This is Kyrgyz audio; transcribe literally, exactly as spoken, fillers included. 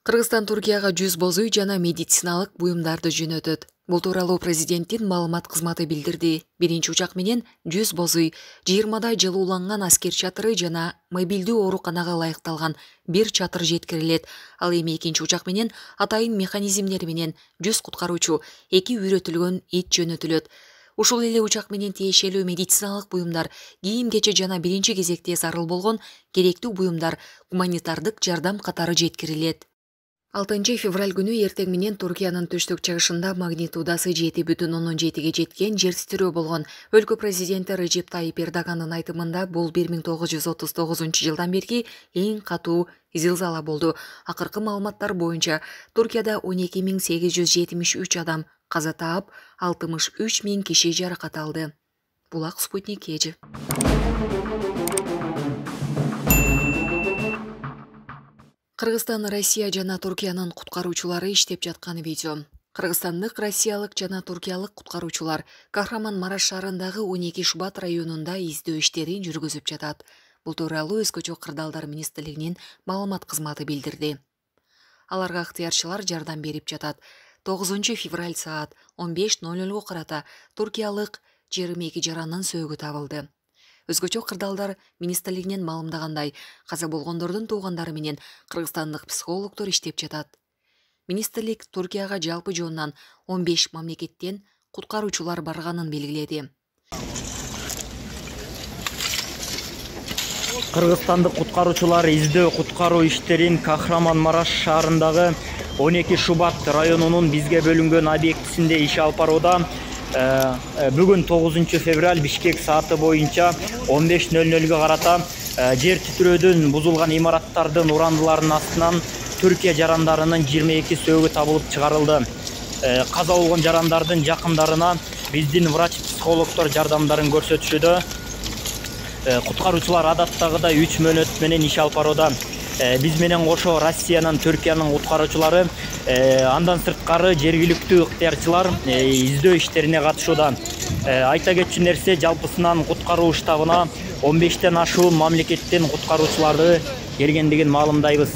Кыргызстан Туркияга жүз боз үй жана медициналык буюмдарды жөнөтөт. Бул тууралуу президенттин маалымат кызматы билдирди. Биринчи учак менен жүз боз үй, жыйырмадай жылууланган аскер чатыры жана мобилдүү ооруканага ылайыкталган бир чатыр жеткирилет. Ал эми экинчи учак менен атайын механизмдери менен жүз куткаруучу, эки үйрөтүлгөн ит жөнөтүлөт. Ушул эле учак менен тиешелүү медициналык буюмдар, кийим-кече жана биринчи кезекте зарыл болгон керектүү буюмдар, гуманитардык жардам катары жеткирилет. алтынчы февраль күнү эртең менен Туркиянын түштүк-чыгышында магнитудасы жети бүтүн ондон жетиге жеткен жер титирөө болгон. Өлкө президенти Режеп Тайип Эрдогандын айтымында бул бир миң тогуз жүз отуз тогузунчу жылдан берки эң катуу зилзала болду. Акыркы маалыматтар боюнча Туркияда он эки миң сегиз жүз жетимиш үч адам каза таап, алтымыш үч миң киши жаракат алды. Булак Спутник Эжи. Кыргызстан, Россия жана Туркиянын куткаруучулары иштеп жаткан видео. Кыргызстандык, россиялык жана туркиялык куткаруучулар Кахраман-Мараш шаарындагы он эки Шубат районунда издөө иштерин жүргүзүп жатат. Бул тууралуу Өзгөчө кырдаалдар министрлигинин маалымат кызматы билдирди. Аларга ыктыярчылар жардам берип жатат. тогузунчу февраль саат он беш ноль нольго карата туркиялык жыйырма эки жаранын сөөгү табылды. Өзгөчө кырдаалдар министрлигинен маалымдагандай, каза болгондордун туугандары менен кыргызстандык психологдор иштеп жатат. Министрлик Туркияга жалпы жоондан он беш мамлекеттен куткаруучулар барганын белгиледи. Кыргызстандык куткаруучулар издөө куткаруу иштерин Кахраман-Мараш шаарындагы он эки Шубат районунун бизге бөлүнгөн объектисинде иш алып барууда. Бүгүн тогузунчу февраль Бишкек сааты боюнча он беш ноль нольго карата жер титирөөдөн бузулган имараттардын урандыларынын астынан Түркия жарандарынын жыйырма эки сөөгү табылып чыгарылды. Каза болгон жарандардын жакындарына биздин врач-психологдор жардамдарын көрсөтүшүүдө. Куткаруучулар адаттагыдай үч мөөнөт менен иш алып барууда. Биз менен кошо Россиянын, Түркиянын куткаруучулары, андан сырткары жергиликтүү ыктыярчылар издөө иштерине катышууда. Айта кетчү нерсе, жалпысынан куткаруу штабына он бештен ашуун мамлекеттен куткаруучуларды келгендигин маалымдайбыз.